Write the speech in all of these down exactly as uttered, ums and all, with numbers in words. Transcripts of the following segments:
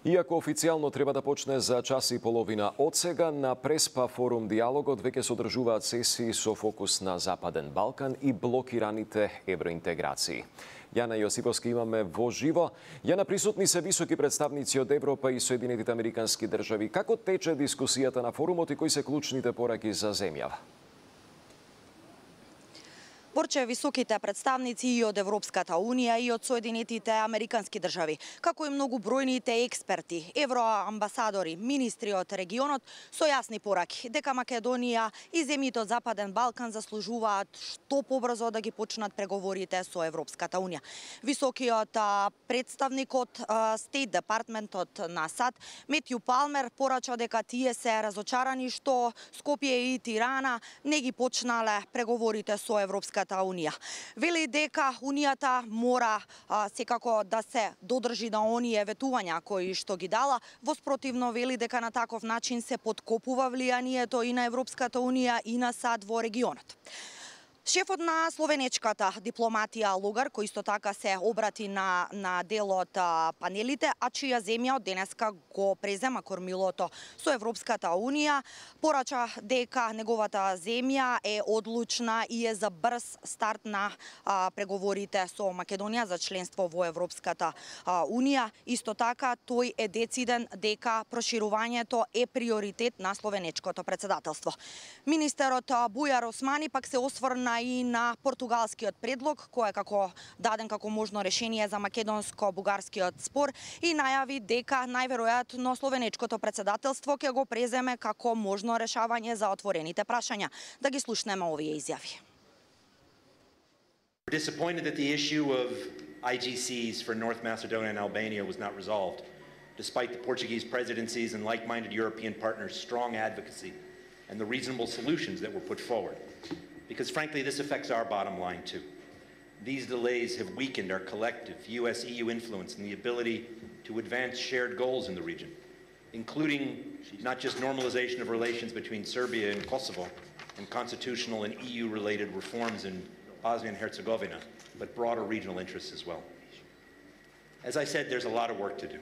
Иако официјално треба да почне за час и половина од сега, на Преспа форум диалогот веќе содржуваат сесии со фокус на Западен Балкан и блокираните евроинтеграции. Јана Јосиповски имаме во живо. Јана, присутни се високи представници од Европа и Соединетите Американски држави. Како тече дискусијата на форумот и кои се клучните пораки за земјава? Борче, високите представници и од Европската Унија и од Соединетите Американски држави, како и многу бројните експерти, евроамбасадори, министри од регионот со јасни пораки дека Македонија и земјите од Западен Балкан заслужуваат што побрзо да ги почнат преговорите со Европската Унија. Високиот представник од Стейт департментот на САД, Метју Палмер, порача дека тие се разочарани што Скопје и Тирана не ги почнале преговорите со Европската Унија. Вели дека Унијата мора а, секако да се додржи на оние ветувања кои што ги дала, воспротивно вели дека на таков начин се подкопува влијанието и на Европската Унија и на САД во регионот. Шефот на словенечката дипломатија Логар, кој исто така се обрати на, на дел од панелите, а чија земја од денеска го презема кормилото со Европската Унија, порача дека неговата земја е одлучна и е за брз старт на а, преговорите со Македонија за членство во Европската а, Унија. Исто така, тој е дециден дека проширувањето е приоритет на словенечкото председателство. Министерот Бујар Османи пак се осврна и на португалскиот предлог, кој е како даден како можно решение за македонско-бугарскиот спор и најави дека најверојатно словенечкото председателство ќе го преземе како можно решавање за отворените прашања. Да ги слушнеме овие изјави. We're disappointed that the issue of I G Cs for North Macedonia and Albania was not resolved, despite the Portuguese presidencies and like-minded European partners' strong advocacy and the reasonable solutions that were put forward. Because frankly, this affects our bottom line too. These delays have weakened our collective U S E U influence and the ability to advance shared goals in the region, including not just normalization of relations between Serbia and Kosovo and constitutional and E U-related reforms in Bosnia and Herzegovina, but broader regional interests as well. As I said, there's a lot of work to do.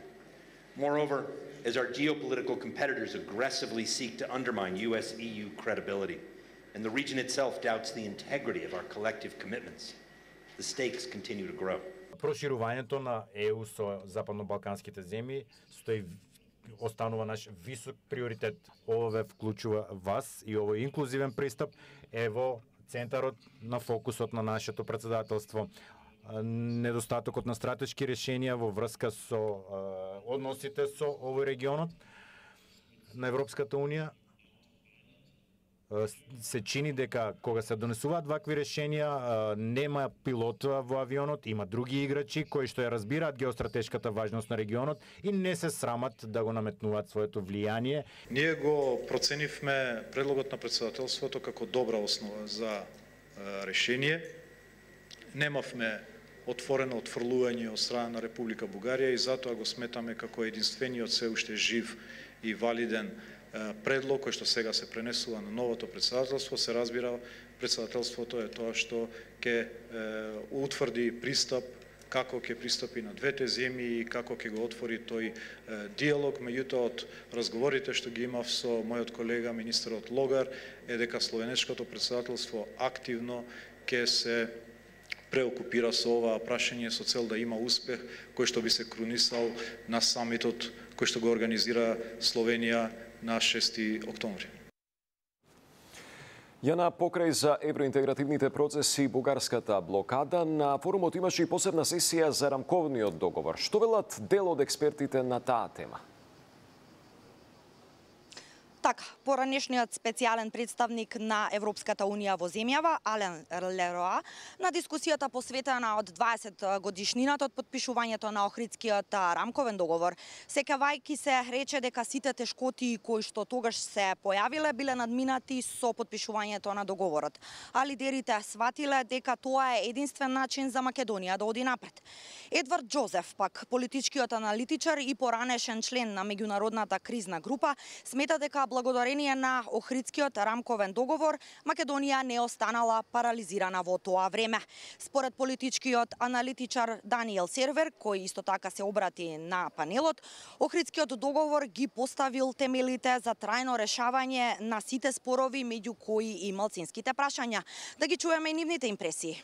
Moreover, as our geopolitical competitors aggressively seek to undermine U S E U credibility, and the region itself doubts the integrity of our collective commitments, the stakes continue to grow. Проширувањето на Е У со западно-балканските земји стои останува наш висок приоритет. Ова вклучува вас и овој инклузивен пристап е во центарот на фокусот на нашето председателство. Недостатокот на стратешки решенија во врска со односите со овој регионот на Европската Унија се чини дека кога се донесуваат вакви решенија нема пилот во авионот, има други играчи кои што ја разбираат геостратешката важност на регионот и не се срамат да го наметнуваат своето влијание. Ние го проценивме предлогот на председателството како добра основа за решение. Немавме отворено отфрлување од страна на Република Бугарија и затоа го сметаме како единствениот се уште жив и валиден предлог кој што сега се пренесува на новото председателство. Се разбира, председателството е тоа што ќе утврди пристап, како ќе пристапи на двете земји и како ќе го отвори тој диалог. Меѓутоа, од разговорите што ги имав со мојот колега министерот Логар е дека словенечкото председателство активно ќе се преокупира со ова прашање со цел да има успех кој што би се крунисал на самитот кој што го организира Словенија на шести октомври. Јана, покрај за евроинтегративните процеси и бугарската блокада, на форумот имаше и посебна сесија за рамковниот договор. Што велат дел од експертите на таа тема? Така, поранешниот специјален представник на Европската Унија во земјава, Ален Лероа, на дискусијата посветена од дваесет годишнината од подпишувањето на Охридскиот рамковен договор, сеќавајќи се рече дека сите тешкоти кои што тогаш се појавиле биле надминати со подпишувањето на договорот. А лидерите сватиле дека тоа е единствен начин за Македонија да оди напред. Едвард Џозеф, пак политичкиот аналитичар и поранешен член на меѓународната кризна група, смета дека благодарение на Охридскиот рамковен договор, Македонија не останала парализирана во тоа време. Според политичкиот аналитичар Даниел Сервер, кој исто така се обрати на панелот, Охридскиот договор ги поставил темелите за трајно решавање на сите спорови, меѓу кои и малцинските прашања. Да ги чуеме и нивните импресии.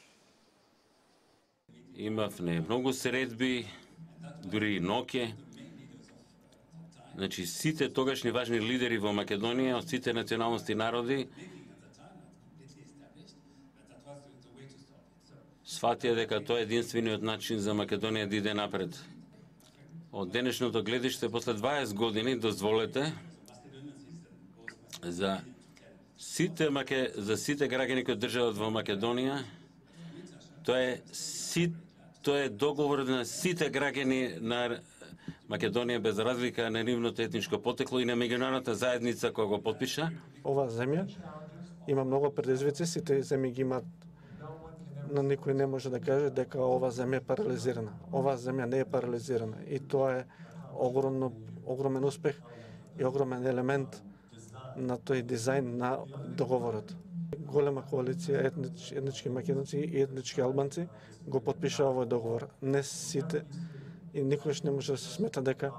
Имавме многу средби, дури и ноќе. Значи, сите тогашни важни лидери во Македонија, од сите националности и народи, сфатија дека тоа е единствениот начин за Македонија да иде напред. Од денешното гледиште, после дваесет години, дозволете за сите маке, за сите граѓани кои држат во Македонија, тоа е сит, тоа е договор на сите граѓани на Македонија без разлика на нивното етничко потекло и на меѓународната заедница која го потпиша. Ова земја има многу предизвици, сите земји ги имаат, но никој не може да каже дека ова земја е парализирана. Ова земја не е парализирана и тоа е огромно, огромен успех и огромен елемент на тој дизајн на договорот. Голема коалиција етнич, етнички македонци и етнички албанци го потпиша овој договор. Не сите и никош не може да се смета дека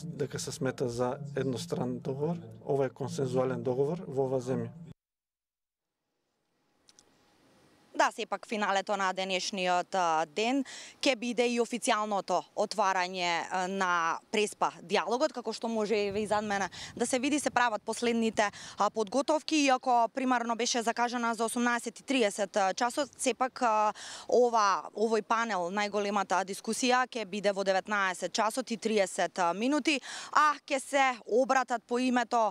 дека се смета за едностранен договор. Ова е консензуален договор во оваа земја. Да, сепак финалето на денешниот ден ќе биде и официјалното отварање на Преспа диалогот, како што може и зад мене да се види, се прават последните подготовки, иако примарно беше закажана за осумнаесет и триесет часот, сепак ова овој панел, најголемата дискусија ќе биде во деветнаесет часот и триесет минути, а ќе се обратат по името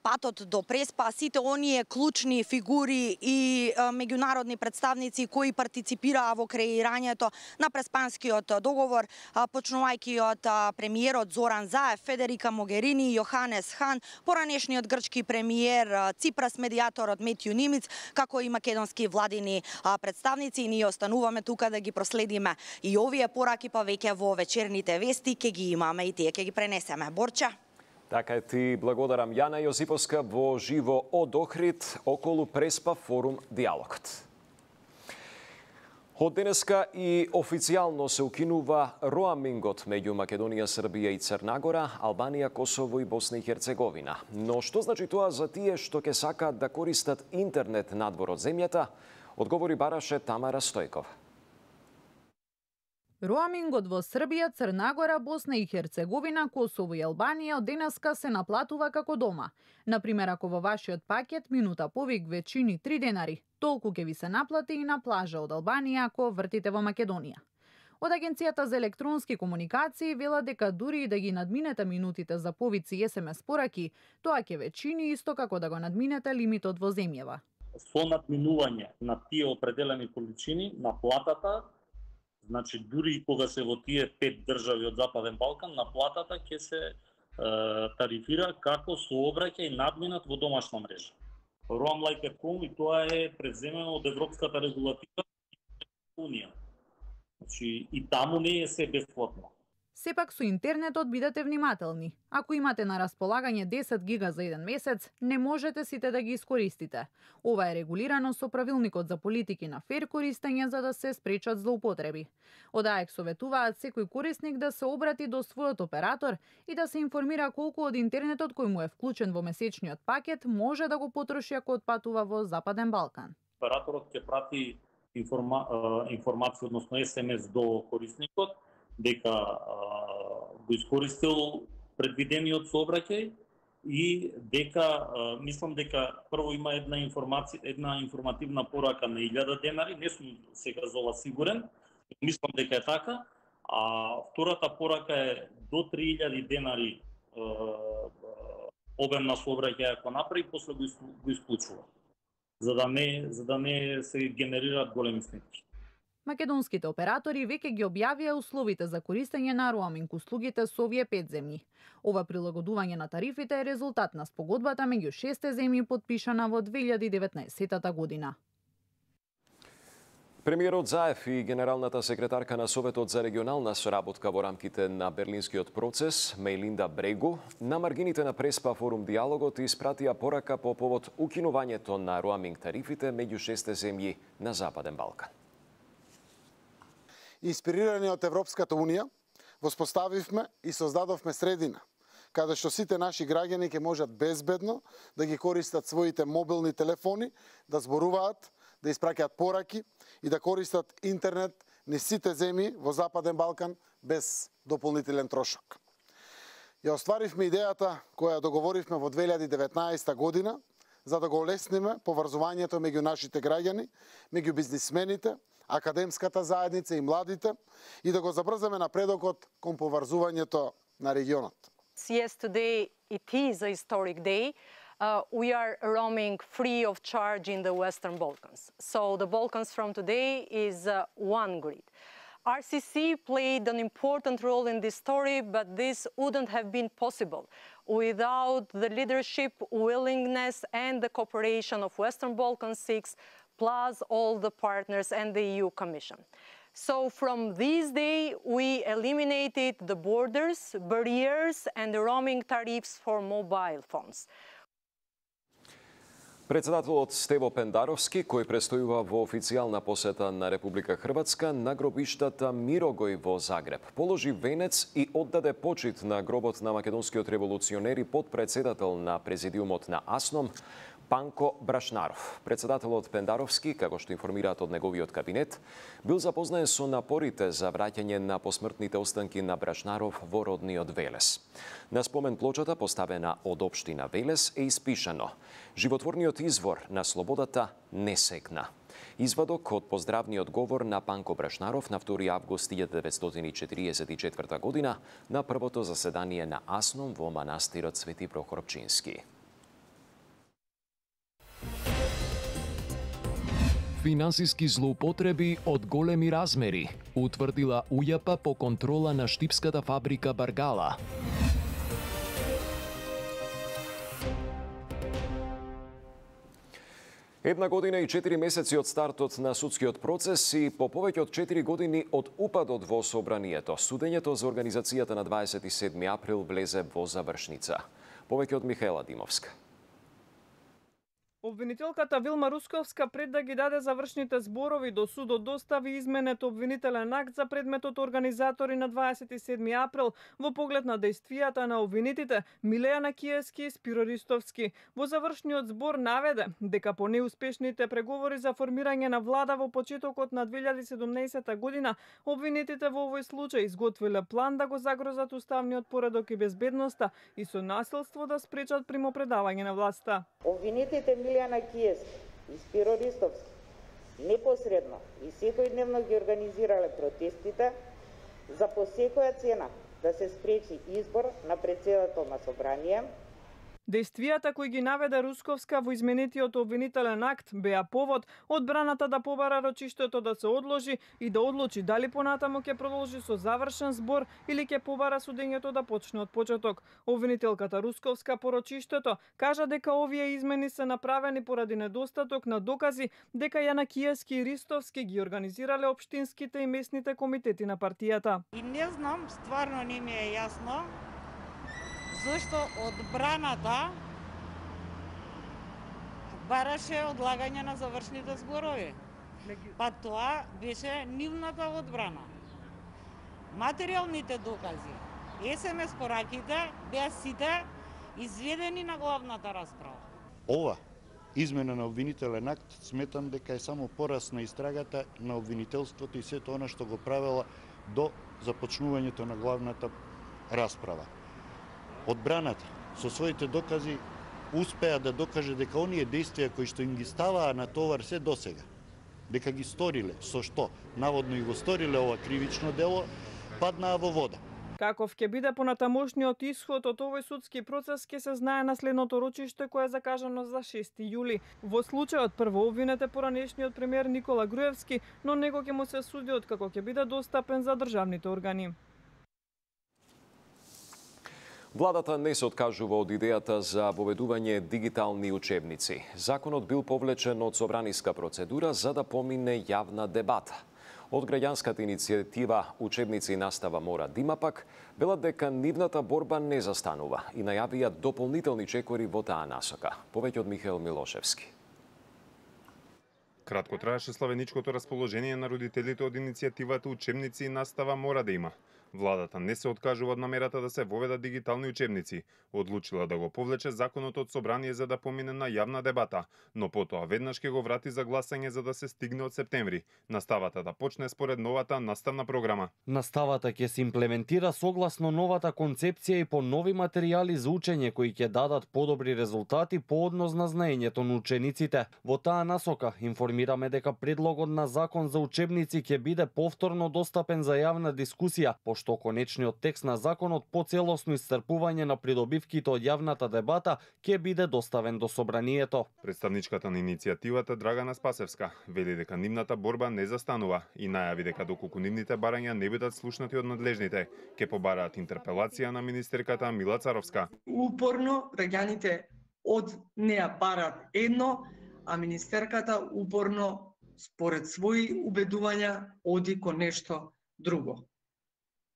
патот до Преспа сите оние клучни фигури и меѓународни представници кои партиципираа во креирањето на Преспанскиот договор, почнувајќи од премиерот Зоран Заев, Федерика Могерини, Јоханес Хан, поранешниот грчки премиер Ципрас, медијаторот Метју Нимиц, како и македонски владини представници. Ние остануваме тука да ги проследиме и овие пораки, па веќе во вечерните вести ќе ги имаме и тие ќе ги пренесеме. Борча. Така е, ти благодарам. Јана Јозиповска во живо од Охрид околу Преспа форум диалогот. Од денеска и официјално се укинува роамингот меѓу Македонија, Србија и Црнагора, Албанија, Косово и Босна и Херцеговина. Но што значи тоа за тие што ќе сакаат да користат интернет надвор од земјата? Одговори бараше Тамара Стојкова. Роамингот во Србија, Црнагора, Босна и Херцеговина, Косово и Албанија од денеска се наплатува како дома. Например, ако во вашиот пакет минута повик ве чини три денари, толку ќе ви се наплати и на плажа од Албанија ако вртите во Македонија. Од Агенцијата за електронски комуникации вела дека дури и да ги надминете минутите за повици и ес ем ес пораки, тоа ќе ве чини исто како да го надминете лимитот во земјава. Со надминување на тие определени количини на платата, значи дури и кога се во тие пет држави од Западен Балкан, на платата ќе се е, тарифира како сообраќај и надминат во домашна мрежа. Roam Like at Home, и тоа е преземено од Европската регулатива Унија. Значи и таму не е се бесплатно. Сепак со интернетот бидете внимателни. Ако имате на располагање десет гига за еден месец, не можете сите да ги искористите. Ова е регулирано со правилникот за политики на фер користење за да се спречат злоупотреби. Од АЕК советуваат секој корисник да се обрати до својот оператор и да се информира колку од интернетот кој му е вклучен во месечниот пакет може да го потроши ако отпатува во Западен Балкан. Операторот ќе прати информа, информација, односно ес ем ес до корисникот, дека а, го искористил предвидениот сообраќај и дека а, мислам дека прво има една информација, една информативна порака на илјада денари, не сум сега за ова сигурен, мислам дека е така, а втората порака е до три илјади денари а, обем на сообраќај ако направи, после го, го исклучува, за да не за да не се генерираат големи сметки. Македонските оператори веќе ги објавија условите за користење на роаминг услугите со овие пет земји. Ова прилагодување на тарифите е резултат на спогодбата меѓу шесте земји потпишана во две илјади и деветнаесетта година. Премиерот Заев и генералната секретарка на Советот за регионална соработка во рамките на Берлинскиот процес, Мејлинда Брегу, на маргините на Преспа форум диалогот испратија порака по повод укинувањето на роаминг тарифите меѓу шесте земји на Западен Балкан. Инспирирани од Европската Унија, воспоставивме и создадовме средина каде што сите наши граѓани ќе можат безбедно да ги користат своите мобилни телефони, да зборуваат, да испраќаат пораки и да користат интернет низ сите земји во Западен Балкан без дополнителен трошок. Ја остваривме идејата која договоривме во две илјади и деветнаесета година за да го олесниме поврзувањето меѓу нашите граѓани, меѓу бизнисмените, академската заедница и младите и да го забрзаме напредокот кон поврзувањето на регионот. Yes, today it is a historic day. Uh, we are roaming free of charge in the Western Balkans. So the Balkans from today is uh, one grid. R C C played an important role in this story, but this wouldn't have been possible without the leadership, willingness and the cooperation of Western Balkan six, plus all the partners and the E U Commission. So from this day, we eliminated the borders, barriers and the roaming tariffs for mobile phones. Председателот Стево Пендаровски, кој престојува во официјална посета на Република Хрватска на гробиштата Мирогој во Загреб, положи венец и оддаде почит на гробот на македонскиот револуционер и подпредседател на президиумот на АСНОМ, Панко Брашнаров. Председателот Пендаровски, како што информираат од неговиот кабинет, бил запознаен со напорите за враќање на посмртните останки на Брашнаров во родниот Велес. На спомен плочата, поставена од општина Велес, е испишано: животворниот извор на слободата не секна. Извадок од поздравниот говор на Панко Брашнаров на втори август илјадесет деветстотини четиридесет и четврта година на првото заседание на АСНОМ во манастирот Свети Прохор Пчински. Финансиски злоупотреби од големи размери, утврдила УЈАП по контрола на штипската фабрика Баргала. Една година и четири месеци од стартот на судскиот процес и по повеќе од четири години од упадот во собранието, судењето за организацијата на дваесет и седми април влезе во завршница. Повеќе од Михаела Димовска. Обвинителката Вилма Русковска пред да ги даде завршните зборови до судот достави изменет обвинителен акт за предметот организатори на дваесет и седми април во поглед на дејствијата на обвинитите Милејана Киевски и Спиро Ристовски. Во завршниот збор наведе дека по неуспешните преговори за формирање на влада во почетокот на две илјади и седумнаесета година обвинитите во овој случај изготвиле план да го загрозат уставниот поредок и безбедноста и со насилство да спречат примопредавање на власта. Обвинитите Милејана Киевски и Спиро Ристовски непосредно и секојдневно ги организирале протестите за по секоја цена да се спречи избор на председател на собрание. Дејствијата кои ги наведе Русковска во изменетиот обвинителен акт беа повод одбраната да побара рочиштето да се одложи и да одлучи дали понатаму ќе продолжи со завршен збор или ќе побара судењето да почне од почеток. Обвинителката Русковска по рочиштето кажа дека овие измени се направени поради недостаток на докази дека Јана Киевски и Ристовски ги организирале општинските и местните комитети на партијата. И не знам, стварно не ми е јасно зашто одбраната бараше одлагање на завршните зборови. Па тоа беше нивната одбрана. Материјалните докази, ес ем ес пораките беа сите изведени на главната расправа. Ова измена на обвинителен акт сметам дека е само порас на истрагата на обвинителството и сето она што го правела до започнувањето на главната расправа. Одбраната со своите докази успеа да докаже дека оние дејствија кои што им ги ставаа на товар се досега, дека ги сториле, со што наводно и го сториле ова кривично дело, паднаа во вода. Каков ќе биде понатамошниот исход од овој судски процес ќе се знае на следното рочиште кое е закажано за шести јули. Во случајот прво обвинет е поранешниот премиер Никола Груевски, но него ќе му се суди откако ќе биде достапен за државните органи. Владата не се откажува од идејата за воведување дигитални учебници. Законот бил повлечен од собраниска процедура за да помине јавна дебата. Од граѓанската иницијатива Учебници и настава мора да има пак, велат дека нивната борба не застанува и најавија дополнителни чекори во таа насока. Повеќе од Михаил Милошевски. Кратко траеше славеничкото расположение на родителите од иницијативата Учебници и настава мора да има. Владата не се откажува од намерата да се воведат дигитални учебници. Одлучила да го повлече законот од собрание за да помине на јавна дебата, но потоа веднаш ќе го врати за гласање за да се стигне од септември. Наставата да почне според новата наставна програма. Наставата ќе се имплементира согласно новата концепција и по нови материјали за учење кои ќе дадат подобри резултати по однос на знаењето на учениците. Во таа насока информираме дека предлогот на закон за учебници ќе биде повторно достапен за јавна дискусија, што конечниот текст на законот по целосно исцрпување на придобивките од јавната дебата ќе биде доставен до собранието. Представничката на иницијативата Драгана Спасевска вели дека нивната борба не застанува и најави дека доколку нивните барања не бидат слушнати од надлежните, ќе побараат интерпелација на министерката Мила Царовска. Упорно граѓаните од неа бараат едно, а министерката упорно според своји убедувања оди кон нешто друго.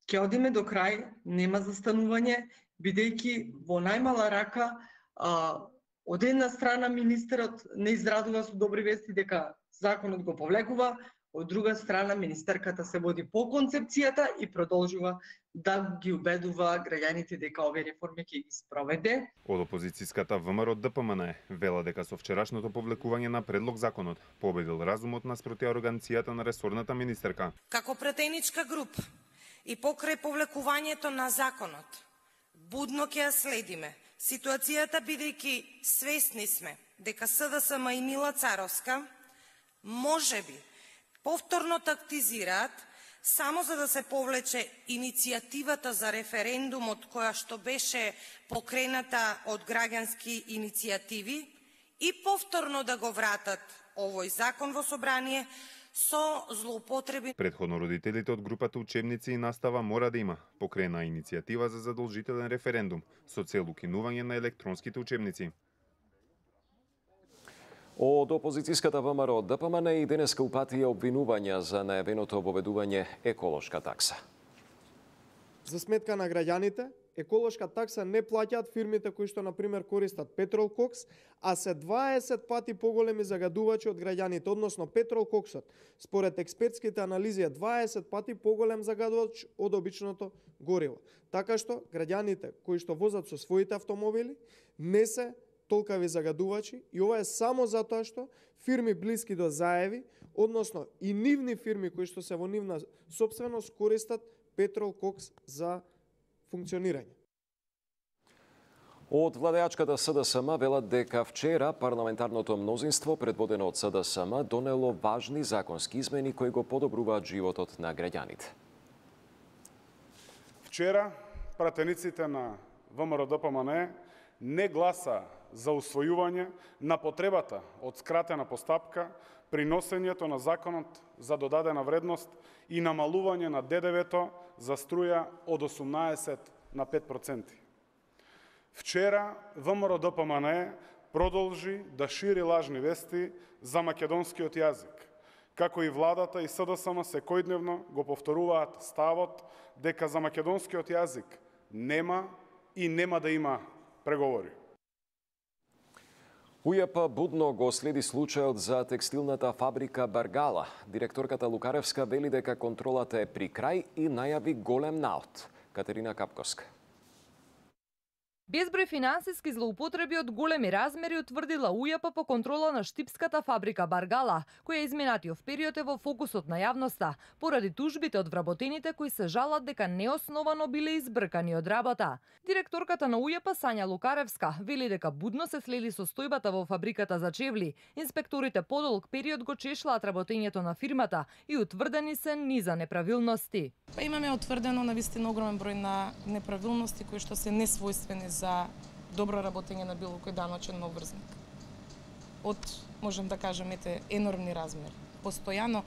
Ке одиме до крај, нема застанување, бидејќи во најмала рака а, од една страна министерот не израдува со добри вести дека законот го повлекува, од друга страна министерката се води по концепцијата и продолжува да ги убедува граѓаните дека овие реформи ќе ги спроведе. Од опозицијската ВМРО ДПМН вела дека со вчерашното повлекување на предлог законот победил разумот наспроти ароганцијата на ресорната министерка. Како претеничка група и покрај повлекувањето на законот, будно ќе ја следиме ситуацијата, бидејќи свесни сме дека СДСМ и Мила Царовска можеби повторно тактизираат само за да се повлече иницијативата за референдумот која што беше покрената од граѓански иницијативи и повторно да го вратат овој закон во собрание со злоупотреби. Предходно родителите од групата Учебници и настава мора да има покрена иницијатива за задолжителен референдум со цел укинување на електронските учебници. Од опозицијската ВМРО ДПМН и денеска упатија обвинувања за најавеното воведување еколошка такса. За сметка на граѓаните, еколошка такса не плаќаат фирмите кои што, например, користат петролкокс, а се дваесет пати поголеми загадувачи од граѓаните, односно петролкоксот. Според експертските анализи е дваесет пати поголем загадувач од обичното гориво. Така што, граѓаните кои што возат со своите автомобили не се толкави загадувачи и ова е само затоа што фирми блиски до заеви, односно и нивни фирми кои што се во нивна сопственост користат петролкокс за функционирање. Од владеачката СДСМ велат дека вчера парламентарното мнозинство предводено од СДСМ донело важни законски измени кои го подобруваат животот на граѓаните. Вчера пратениците на ВМРО ДПМН не гласа за усвојување на потребата од скратена постапка при носењето на законот за додадена вредност и намалување на ДДВ-то за струја од осумнаесет на пет проценти. Вчера ВМРО ДПМН продолжи да шири лажни вести за македонскиот јазик, како и владата и СДСМ секојдневно го повторуваат ставот дека за македонскиот јазик нема и нема да има преговори. УЈП будно го следи случајот за текстилната фабрика Баргала. Директорката Лукаревска вели дека контролата е при крај и најави голем наод. Катерина Капковска. Безброј финансиски злоупотреби од големи размери утврдила УЈП по контрола на штипската фабрика Баргала, која изминатиот период е во фокусот на јавноста, поради тужбите од вработените кои се жалат дека неосновано биле избркани од работа. Директорката на УЈП Сања Лукаревска вели дека будно се следи состојбата во фабриката за чевли. Инспекторите подолг период го чешлаат работењето на фирмата и утврдени се низа неправилности. Па имаме утврдено навистина огромен број на неправилности кои што се несвојствени за добро работење на било кој даночен обврзник. Од, можем да кажеме, енормни размери. Постојано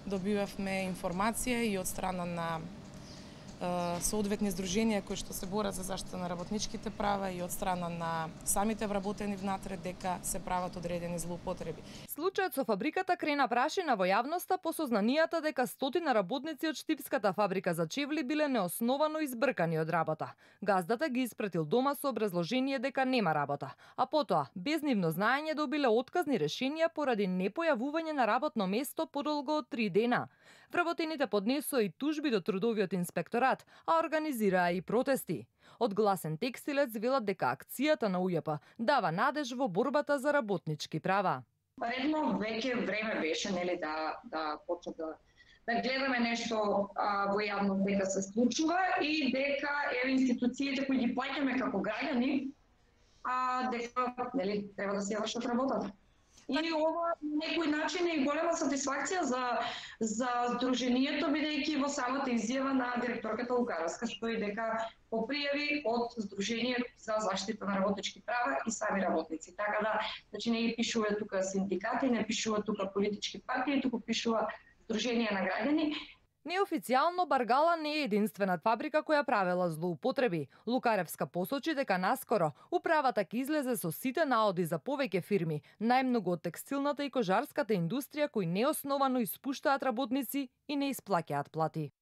добивавме информација и од страна на соодветни здруженија кои што се борат за заштита на работничките права и од страна на самите вработени внатре дека се прават одредени злоупотреби. Случајот со фабриката крена прашина во јавноста по сознанијата дека стотина работници од штипската фабрика за чевли биле неосновано избркани од работа. Газдата ги испратил дома со образложение дека нема работа, а потоа, без нивно знаење, добиле отказни решенија поради непојавување на работно место подолго од три дена. Вработените поднесоа и тужби до трудовиот инспекторат, а организираа и протести. Од Гласен текстилец велат дека акцијата на УЈП дава надеж во борбата за работнички права. Редно веќе време беше, нели, да да почне да да гледаме нешто а, во јавност дека се случува и дека еве институциите кои ги плаќаме како граѓани, а дека нели треба да се вршат работата. И ова на некој начин е и голема сатисфакција за за здруженијето, бидејќи во самата изјава на директорката Лукаровска стои дека по пријави од Здружение за заштита на работнички права и сами работници. Така да, значи не ги пишува тука синдикати, не пишува тука политички партии, туку пишува Здружение на граѓани. Неофицијално Баргала не е единствената фабрика која правела злоупотреби. Лукаревска посочи дека наскоро управата ќе излезе со сите наоди за повеќе фирми, најмногу од текстилната и кожарската индустрија кои неосновано испуштаат работници и не исплаќаат плати.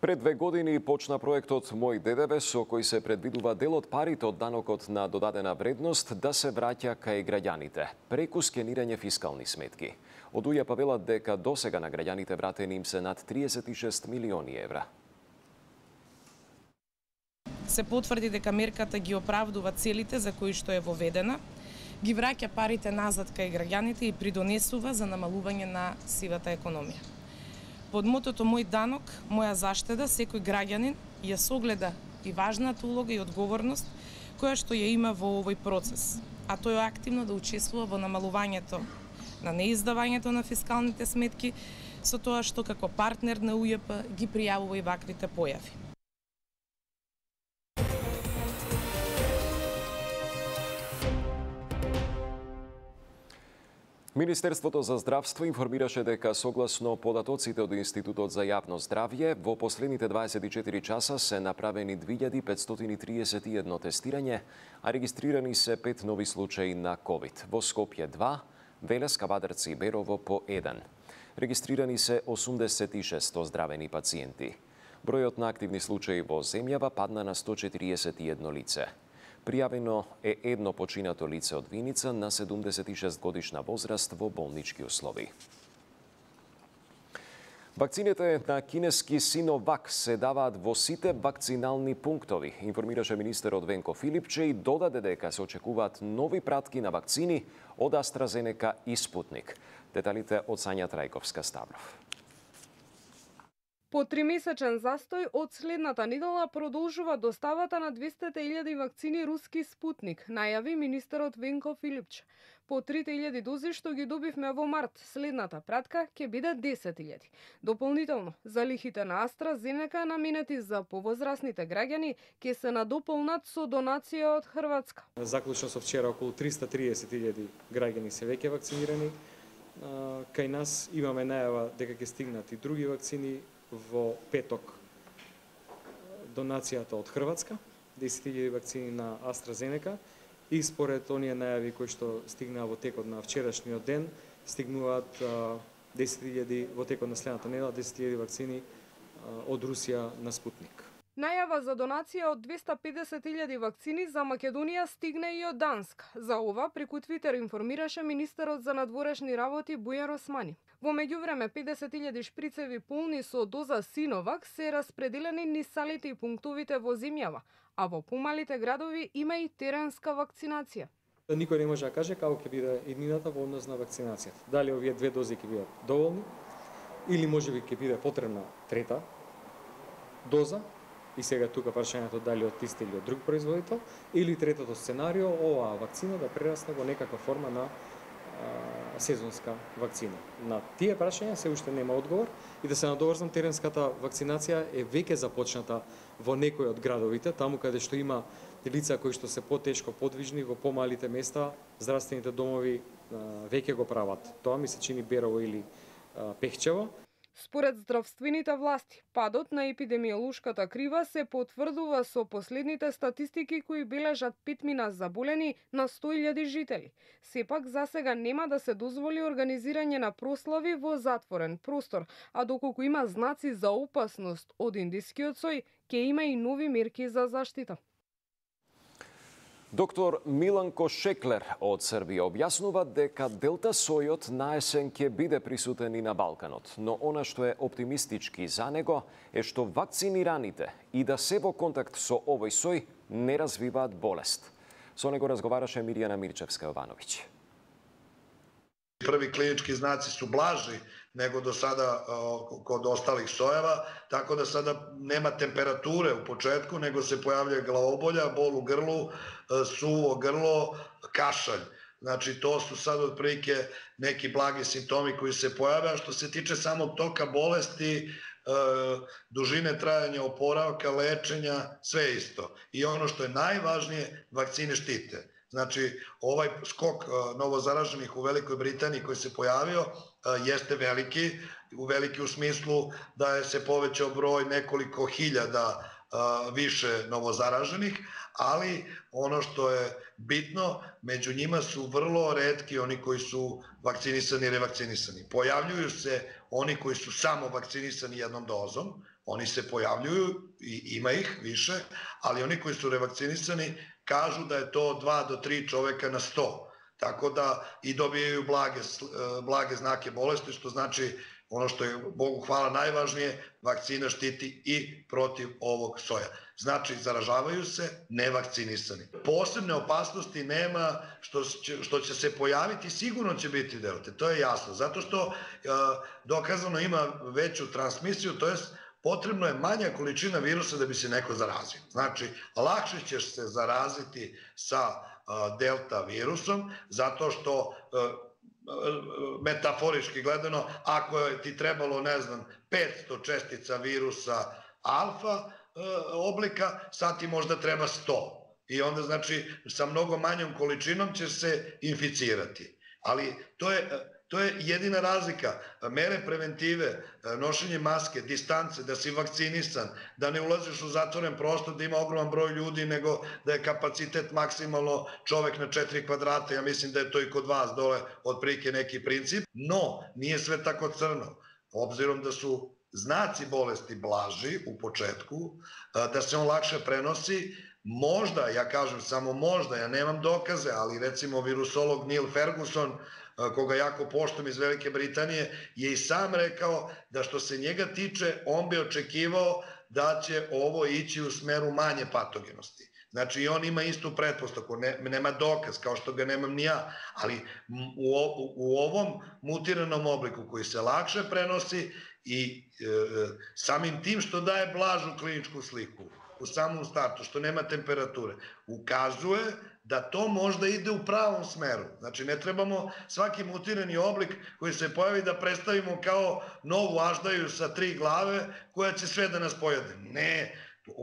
Пред две години почна проектот Мој ДДВ, со кој се предвидува дел од парите од данокот на додадена вредност да се враќа кај граѓаните, преку скенирање фискални сметки. Од УЈП велат дека досега на граѓаните вратени им се над триесет и шест милиони евра. Се потврди дека мерката ги оправдува целите за кои што е воведена, ги враќа парите назад кај граѓаните и придонесува за намалување на сивата економија. Под мотото Мој данок, моја заштеда, секој граѓанин ја согледа и важната улога и одговорност која што ја има во овој процес, а тој е активно да учествува во намалувањето на неиздавањето на фискалните сметки, со тоа што како партнер на УЈП ги пријавува и ваквите појави. Министерството за здравство информираше дека согласно податоците од Институтот за јавно здравје, во последните дваесет и четири часа се направени две илјади петстотини триесет и едно тестирање, а регистрирани се пет нови случаи на ковид. Во Скопје два, Велес, Кавадарци и Берово по еден. Регистрирани се осумдесет и шест оздравени пациенти. Бројот на активни случаи во земјава падна на сто четириесет и едно лице. Пријавено е едно починато лице од Виница на седумдесет и шест годишна возраст во болнички услови. Вакцините на кинески Синовак се даваат во сите вакцинални пунктови, информираше министерот Венко Филипче и додаде дека се очекуваат нови пратки на вакцини од AstraZeneca и Спутник. Деталите од Сања Трајковска-Ставров. По тримесечен застој од следната недела продолжува доставата на двесте илјади вакцини руски Спутник, најави министерот Венко Филипче. По три илјади дози што ги добивме во март, следната пратка ќе биде десет илјади. Дополнително, залихите на AstraZeneca наменети за повозрасните граѓани ќе се надополнат со донација од Хрватска. Заклучно со вчера околу триста триесет илјади граѓани се веќе вакцинирани. Кај нас имаме најава дека ќе стигнат и други вакцини. Во петок донацијата од Хрватска, десет илјади вакцини на AstraZeneca и според оние најави кои што стигнаа во текот на вчерашниот ден, стигнуваат десет илјади во текот на следната недела, десет илјади вакцини од Русија на Спутник. Најава за донација од двесте педесет илјади вакцини за Македонија стигна и од Данска. За ова преку Твитер информираше министерот за надворешни работи Бујар Османи. Во меѓувреме педесет илјади шприцеви полни со доза Синовак се распределени низ салите и пунктовите во земјава, а во помалите градови има и теренска вакцинација. Никој не може да каже како ќе биде иднината во однос на вакцинацијата. Дали овие две дози ќе бидат доволни или можеби ќе биде потребна трета доза. И сега тука прашањето дали од исти или од друг производител, или третото сценарио, оваа вакцина да прерасне во некаква форма на а, сезонска вакцина. На тие прашања се уште нема одговор и да се надоврзам, теренската вакцинација е веќе започната во некои од градовите, таму каде што има лица кои што се потешко подвижни во помалите места, здравствените домови а, веќе го прават. Тоа ми се чини Берово или а, Пехчево. Според здравствените власти, падот на епидемиолошката крива се потврдува со последните статистики кои бележат петмина заболени на сто илјади жители. Сепак засега нема да се дозволи организирање на прослави во затворен простор, а доколку има знаци за опасност од индискиот сој, ќе има и нови мерки за заштита. Доктор Миланко Шеклер од Србија објаснува дека делта сојот на есен ќе биде присутен и на Балканот, но она што е оптимистички за него е што вакцинираните и да се во контакт со овој сој не развиваат болест. Со него разговараше Мирјана Мирчевска-Јовановиќ. Први клинички знаци су блажи него до сада код осталих сојева, така да сада нема температуре у почетку, него се појавља главоболја, бол у грлу, суво грло, кашаљ. Значи, то су сад отприлike неки благи симптоми кои се појавljaju. Што се тиче самog тока болести, dužine trajanja oporavka, lečenja, sve isto. I ono što je najvažnije, vakcine štite. Znači, ovaj skok novozaraženih u Velikoj Britaniji koji se pojavio jeste veliki, u veliki u smislu da je se povećao broj nekoliko hiljada više novozaraženih, ali ono što je bitno, među njima su vrlo retki oni koji su vakcinisani i revakcinisani. Pojavljuju se oni koji su samo vakcinisani jednom dozom, oni se pojavljuju i ima ih više, ali oni koji su revakcinisani kažu da je to dva do tri čoveka na sto. Tako da i dobijaju blage, blage znake bolesti, što znači ono što je, Bogu hvala, najvažnije, vakcina štiti i protiv ovog soja. Znači, zaražavaju se nevakcinisani. Posebne opasnosti nema što će, što će se pojaviti, sigurno će biti delte, to je jasno, zato što dokazano ima veću transmisiju, to jest potrebno je manja količina virusa da bi se neko zarazio. Znači, lakše ćeš se zaraziti sa delta virusom, zato što metaforički gledano, ako je ti trebalo, ne znam, petsto čestica virusa alfa oblika, sad ti možda treba sto. I onda, znači, sa mnogo manjom količinom ćeš se inficirati. Ali to je... To je jedina razlika. Mere preventive, nošenje maske, distance, da si vakcinisan, da ne ulaziš u zatvoren prostor, da ima ogroman broj ljudi, nego da je kapacitet maksimalno čovek na četiri kvadrata. Ja mislim da je to i kod vas dole otprilike neki princip. No, nije sve tako crno. Obzirom da su znaci bolesti blaži u početku, da se on lakše prenosi, možda, ja kažem samo možda, ja nemam dokaze, ali recimo virusolog Neil Ferguson, koga jako poštujem iz Velike Britanije, je i sam rekao da što se njega tiče, on bi očekivao da će ovo ići u smeru manje patogenosti. Znači, on ima istu pretpostavku, nema dokaz, kao što ga nemam ni ja, ali u ovom mutiranom obliku koji se lakše prenosi i samim tim što daje blažu kliničku sliku u samom startu, što nema temperature, ukazuje da to možda ide u pravom smeru. Znači, ne trebamo svaki mutirani oblik koji se pojavi da predstavimo kao novu aždaju sa tri glave koja će sve da nas pojede. Ne,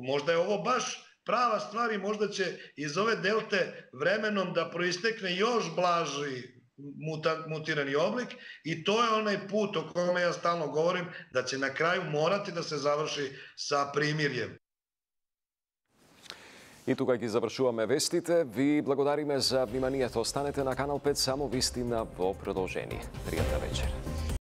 možda je ovo baš prava stvar i možda će iz ove delte vremenom da proistekne još blaži mutirani oblik i to je onaj put o kome ja stalno govorim, da će na kraju morati da se završi sa primirjem. И тука ги завршуваме вестите. Ви благодариме за вниманието. Останете на Канал пет, само вистина во продолжение. Пријатна вечер.